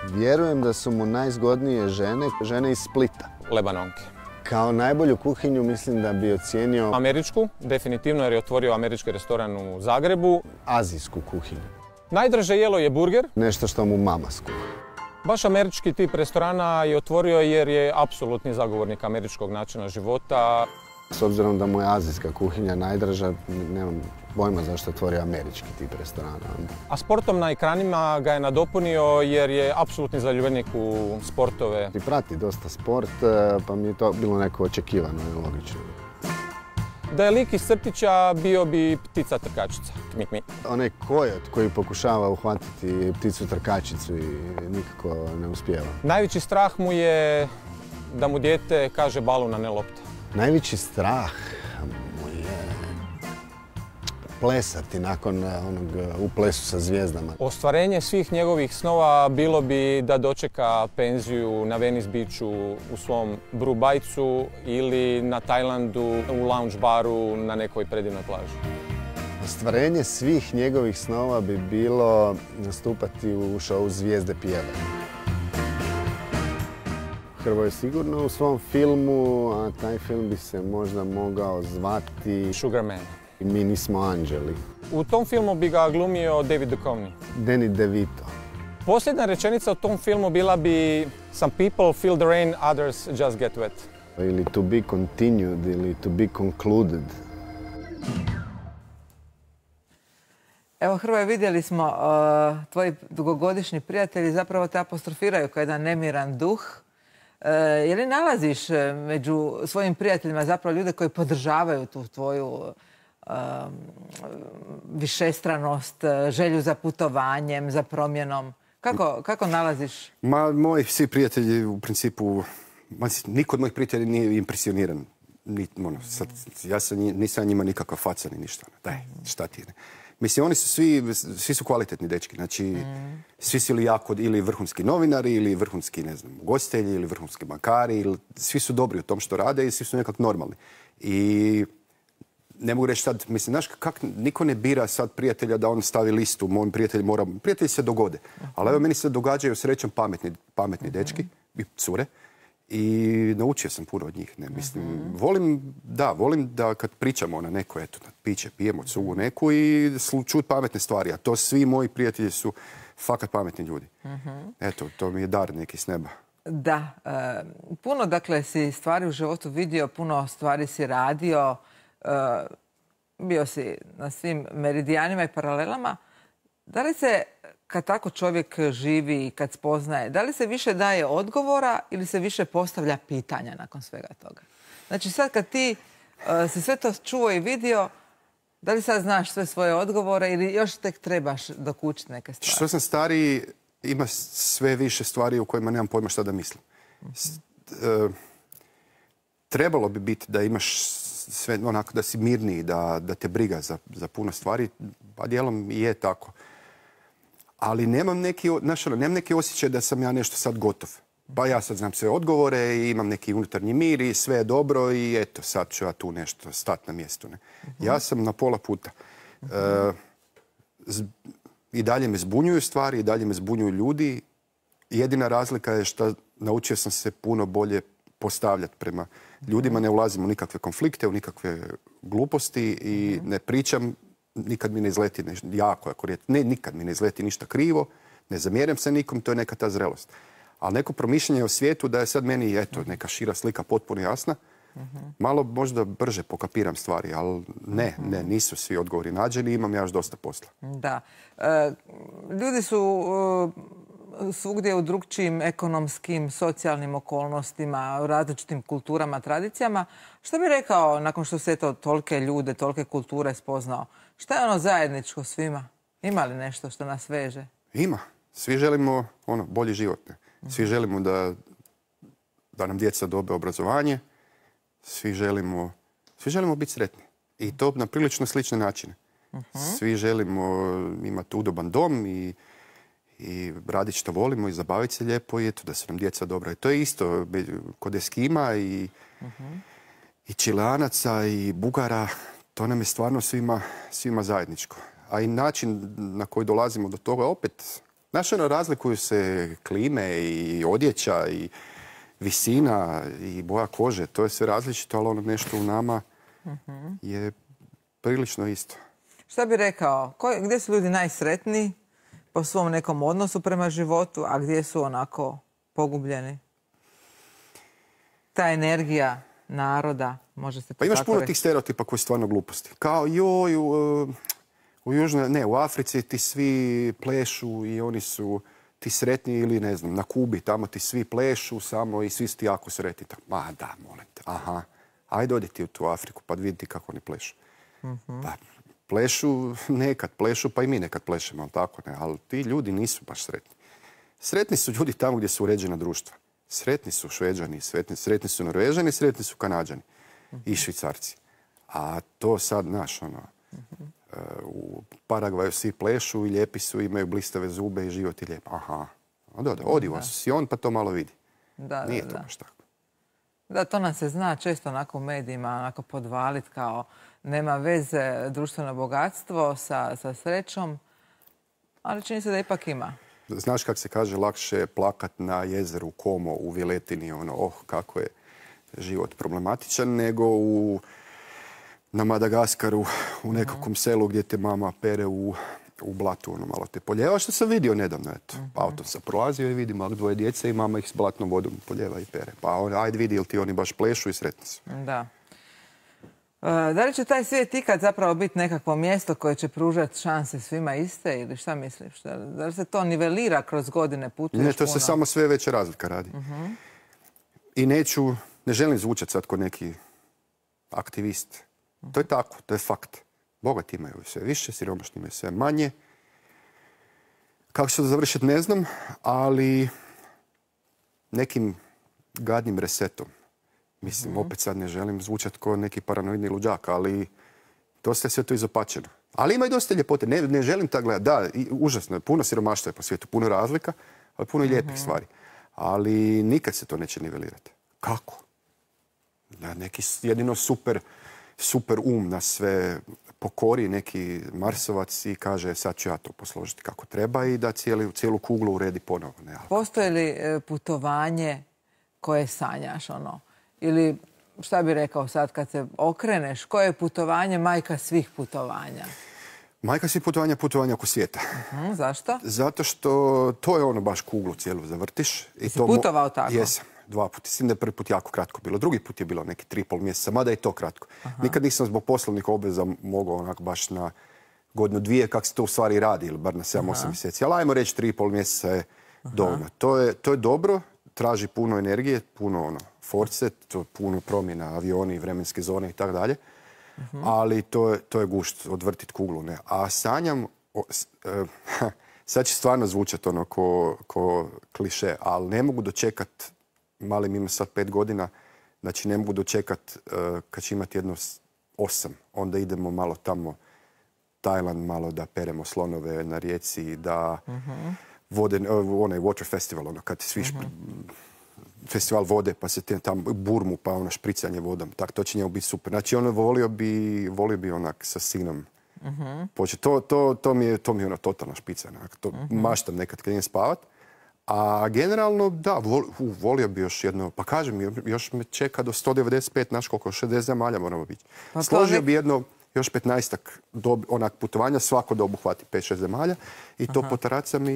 Vjerujem da su mu najzgodnije žene, žene iz Splita. Lebanonke. Kao najbolju kuhinju mislim da bi ocijenio... Američku, definitivno, jer je otvorio američki restoran u Zagrebu. Azijsku kuhinju. Najdraže jelo je burger. Nešto što mu mama skuha. Baš američki tip restorana je otvorio jer je apsolutni zagovornik američkog načina života. S obzirom da mu je azijska kuhinja najdraža, nemam pojma zašto je otvorio američki tip restorana. A sportom na ekranima ga je nadopunio jer je apsolutni zaljubljenik u sportove. I prati dosta sport, pa mi je to bilo neko očekivano i logično. Da je lik iz crtića bio bi ptica trkačica. Mi, mi. Onaj kojot koji pokušava uhvatiti pticu trkačicu i nikako ne uspijeva. Najveći strah mu je da mu dijete kaže balun, a ne lopta. Najveći strah mu je plesati nakon onog u plesu sa zvijezdama. Ostvarenje svih njegovih snova bilo bi da dočeka penziju na Venice Beachu u svom Brubajcu ili na Tajlandu u lounge baru na nekoj predivnoj plaži. Ostvarenje svih njegovih snova bi bilo nastupati u šovu Zvijezde pjevaju. Hrvoje sigurno u svom filmu, a taj film bi se možda mogao zvati Sugar Man. Mi nismo anđeli. U tom filmu bi ga glumio David Duchovny. Danny DeVito. Posljedna rečenica u tom filmu bila bi Some people feel the rain, others just get wet. Ili to be continued, ili to be concluded. Evo, Hrvoje, vidjeli smo uh, tvoji dugogodišnji prijatelji zapravo te apostrofiraju kao jedan nemiran duh. Uh, je li nalaziš među svojim prijateljima zapravo ljude koji podržavaju tu tvoju uh, višestranost, želju za putovanjem, za promjenom? Kako, kako nalaziš? Ma, moji svi prijatelji u principu, ma, niko od mojih prijatelja nije impresioniran. Ni, ono, sad, ja sam, nisam njima nikakva faca ni ništa. Daj, šta ti je? Mislim, oni su svi, svi su kvalitetni dečki. Znači, mm. svi su ili jako, ili vrhunski novinari, ili vrhunski, ne znam, gostitelji, ili vrhunski bankari, ili, svi su dobri u tom što rade i svi su nekako normalni. I ne mogu reći sad, mislim, znaš, kak, niko ne bira sad prijatelja da on stavi listu, mojim prijatelji mora, prijatelji se dogode. Ali evo, meni se događaju srećom pametni, pametni dečki i cure. I naučio sam puno od njih. Ne? Mislim, uh-huh. volim, da, volim da kad pričamo na neko, eto, na piće, pijemo cugu neku i čut pametne stvari. A to svi moji prijatelji su fakat pametni ljudi. Uh-huh. Eto, to mi je dar neki s neba. Da, e, puno, dakle, si stvari u životu vidio, puno stvari si radio, e, bio si na svim meridijanima i paralelama. Da li se, kad tako čovjek živi i kad spoznaje, da li se više daje odgovora ili se više postavlja pitanja nakon svega toga? Znači sad kad ti uh, si sve to čuo i vidio, da li sad znaš sve svoje odgovore ili još tek trebaš dokučiti neke stvari? Što sam stariji, ima sve više stvari u kojima nemam pojma šta da mislim. Uh-huh. Uh, trebalo bi biti da imaš sve onako, da si mirniji, da, da te briga za, za puno stvari, pa dijelom i je tako. Ali nemam neki, znaš, nemam neki osjećaj da sam ja nešto sad gotov. Pa ja sad znam sve odgovore i imam neki unutarnji mir i sve je dobro i eto, sad ću ja tu nešto stati na mjestu. Ne? Uh-huh. Ja sam na pola puta. Uh-huh. E, z, I dalje me zbunjuju stvari, i dalje me zbunjuju ljudi. Jedina razlika je što naučio sam se puno bolje postavljati prema ljudima. Ne ulazim u nikakve konflikte, u nikakve gluposti i ne pričam. Nikad mi ne izleti nešto jako, ako je, ne, nikad mi ne izleti ništa krivo, ne zamjeram se nikom, to je neka ta zrelost. Ali neko promišljanje o svijetu da je sad meni, eto, neka šira slika potpuno jasna, uh-huh. malo možda brže pokapiram stvari, ali ne, uh-huh. ne, nisu svi odgovori nađeni, imam ja još dosta posla. Da. E, ljudi su e, svugdje u drugčijim ekonomskim, socijalnim okolnostima, u različitim kulturama, tradicijama. Što bi rekao, nakon što se to tolike ljude, tolike kulture spoznao, šta je ono zajedničko svima? Ima li nešto što nas veže? Ima. Svi želimo ono, bolji život. Ne? Svi želimo da, da nam djeca dobe obrazovanje. Svi želimo, svi želimo biti sretni. I to na prilično slične načine. Uh-huh. Svi želimo imati udoban dom i, i raditi što volimo i zabaviti se lijepo i eto, da su nam djeca dobra. I to je isto kod Eskima i, uh-huh. i Čileanaca i Bugara. To nam je stvarno svima, svima zajedničko. A i način na koji dolazimo do toga, opet, znaš, ono, razlikuju se klime i odjeća i visina i boja kože. To je sve različito, ali ono nešto u nama uh-huh. je prilično isto. Šta bi rekao? Ko, gdje su ljudi najsretniji po svom nekom odnosu prema životu, a gdje su onako pogubljeni? Ta energija naroda, može se to pa imaš tako puno reći. Tih stereotipa koji su stvarno gluposti. Kao joj, u, u Južnoj, ne, u Africi ti svi plešu i oni su ti sretni ili ne znam, na Kubi tamo ti svi plešu samo i svi su ti jako sretni. Ma da, molim te, aha. Ajde oditi u tu Afriku pa vidjeti kako oni plešu. Pa, plešu nekad, plešu pa i mi nekad plešemo, ali tako ne. Ali ti ljudi nisu baš sretni. Sretni su ljudi tamo gdje su uređena društva. Sretni su Šveđani, sretni, sretni su Norvežani, sretni su Kanađani i Švicarci. A to sad, znaš, ono, u Paragvaju svi plešu i lijepi su, imaju blistave zube i život je lijep. Aha, da, da, odi u Asuncion pa to malo vidi. Da, Nije da, to da. baš tako. Da, to nam se zna često onako u medijima, onako podvalit kao nema veze društveno bogatstvo sa, sa srećom, ali čini se da ipak ima. Znaš kako se kaže, lakše je plakat na jezeru Como u Viletini, ono, oh, kako je život problematičan, nego u, na Madagaskaru, u nekakvom selu gdje te mama pere u, u blatu, ono, malo te poljeva, što sam vidio nedavno, eto. Autom sam prolazio i vidim malo dvoje djece i mama ih s blatnom vodom poljeva i pere. Pa on, ajde vidi, jel ti oni baš plešu i sretni su. Da. Da li će taj svijet ikad zapravo biti nekakvo mjesto koje će pružati šanse svima iste ili šta misliš? Da li se to nivelira kroz godine putuješ? Ne, to se samo sve veća razlika radi. I neću, ne želim zvučati sad kao neki aktivist. To je tako, to je fakt. Bogati imaju sve više, siromašni imaju sve manje. Kako će to završiti ne znam, ali nekim gadnim resetom. Mislim, opet sad ne želim zvučati kao neki paranoidni luđak, ali dosta je sve to izopačeno. Ali ima i dosta ljepote. Ne, ne želim tako gledati. Da, i, užasno je. Puno siromaštva je po svijetu, puno razlika, ali puno i lijepih stvari. Ali nikad se to neće nivelirati. Kako? Da, neki jedino super, super um nas sve pokori, neki Marsovac i kaže sad ću ja to posložiti kako treba i da cijeli, cijelu kuglu uredi ponovo. Ne, ali... Postoji li putovanje koje sanjaš, ono? Ili šta bi rekao sad kad se okreneš, koje je putovanje majka svih putovanja? Majka svih putovanja, putovanja oko svijeta. Uh-huh, zašto? Zato što to je ono baš kuglu cijelu zavrtiš. I si to putovao tako? Jesam, dva puta. Mislim da je prvi put jako kratko bilo. Drugi put je bilo neki tri i pol mjeseca, mada je to kratko. Aha. Nikad nisam zbog poslovnih obveza mogao onako baš na godinu dvije, kako se to u stvari radi, ili bar na sedam osam mjeseci. Ali ajmo reći tri i pol mjeseca je dovoljno. To je, to je dobro, traži puno energije, puno ono, force, to puno promjena, avioni, vremenske zone i tako dalje. Ali to je, to je gušt, odvrtit kuglu. Ne? A sanjam, o, s, e, sad će stvarno zvučati ono ko, ko kliše, ali ne mogu dočekat, malim ima sad pet godina, znači ne mogu dočekat e, kad će imati jedno osam, onda idemo malo tamo, Tajland, malo da peremo slonove na rijeci, da uh-huh. vode, onaj water festival, ono, kad svi uh-huh. festival vode, pa se te tam burmu, pa ono špricanje vodom. Tak, to će njemu biti super. Znači, ono volio bi, volio bi onak sa sinom uh-huh. početi. To, to, to, mi je, to mi je ono totalna špica. Onak. To uh-huh. maštam nekad kad idem spavat. A generalno, da, vol, uh, volio bi još jedno, pa kažem, još me čeka do sto devedeset pet, naš koliko, šezdeset zemalja moramo biti. Pa Složio nek... bi jedno, još petnaestak dob, onak putovanja, svako da obuhvati pet šest zemalja i to uh-huh. po taracama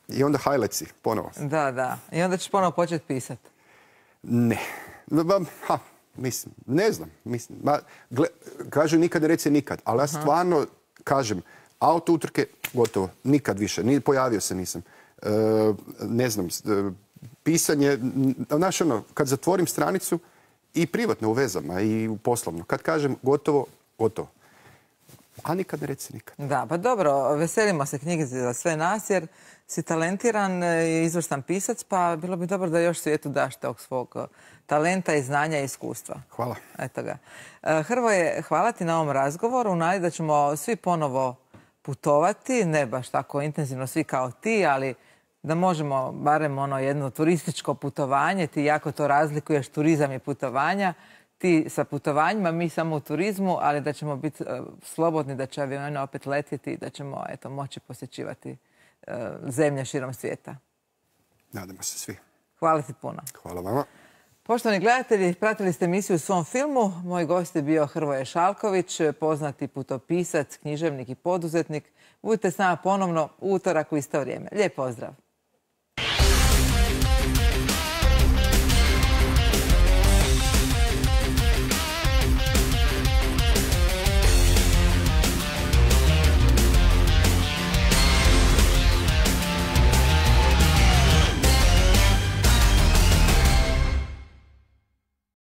i onda highlightsi, ponovo. Da, da. I onda ćeš ponovo početi pisati. Ne. Ha, mislim, ne znam. Mislim, ma, gle, kažu nikad ne reci nikad, ali ja stvarno kažem, auto utrke, gotovo, nikad više. Ni, pojavio se nisam. E, ne znam, pisanje, znaš ono, kad zatvorim stranicu i privatno u vezama i u poslovno, kad kažem gotovo, gotovo. A nikad ne reci nikad. Da, pa dobro, veselimo se knjigi za sve nas jer si talentiran i izvrstan pisac, pa bilo bi dobro da još svijetu daš tog svog talenta i znanja i iskustva. Hvala. Eto ga. Hrvoje, hvala ti na ovom razgovoru. Nadi da ćemo svi ponovo putovati, ne baš tako intenzivno svi kao ti, ali da možemo barem ono jedno turističko putovanje. Ti jako to razlikuješ, turizam i putovanja. Ti sa putovanjima, mi samo u turizmu, ali da ćemo biti uh, slobodni, da će avioni opet letjeti i da ćemo eto, moći posjećivati uh, zemlje širom svijeta. Nadamo se svi. Hvala ti puno. Hvala vama. Poštovani gledatelji, pratili ste emisiju u svom filmu. Moj gost je bio Hrvoje Šalković, poznati putopisac, književnik i poduzetnik. Budite s nama ponovno u utorak u isto vrijeme. Lijep pozdrav.